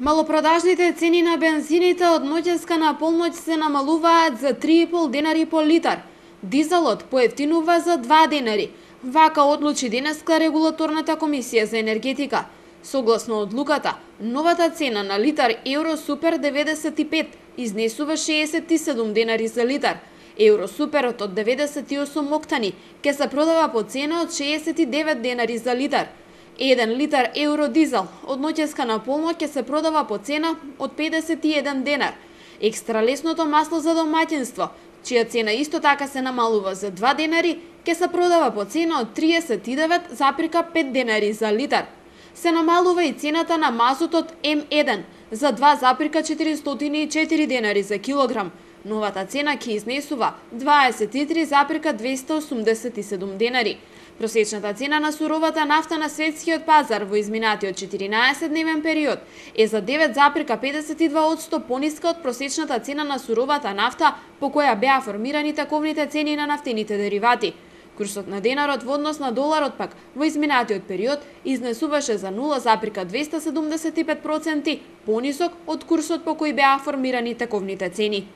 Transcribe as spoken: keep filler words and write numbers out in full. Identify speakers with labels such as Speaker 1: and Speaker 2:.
Speaker 1: Малопродажните цени на бензините од ноќеска на полноќ се намалуваат за три и пол денари по литар. Дизелот поевтинува за два денари. Вака одлучи денеска Регулаторната комисија за енергетика. Согласно одлуката, новата цена на литар Евро Супер деветдесет и пет изнесува шеесет и седум денари за литар. Евро Суперот од деветдесет и осум октани ќе се продава по цена од шеесет и девет денари за литар. Еден литар Евро дизел од ноќеска на полноќ ќе се продава по цена од педесет и еден денар. Екстра лесното масло за домаќинство, чија цена исто така се намалува за два денари, ќе се продава по цена од триесет и девет запирка пет денари за литар. Се намалува и цената на мазутот М еден за два запирка четиристотини и четири денари за килограм. Новата цена ќе изнесува дваесет и три запирка двесте осумдесет и седум денари. Просечната цена на суровата нафта на светскиот пазар во изминатиот четиринаесет-дневен период е за девет запирка педесет и два одсто пониска од просечната цена на суровата нафта по која беа формирани таковните цени на нафтените деривати. Курсот на денарот во однос на доларот пак во изминатиот период изнесуваше за нула запирка двесте седумдесет и пет проценти понисок од курсот по кој беа формирани таковните цени.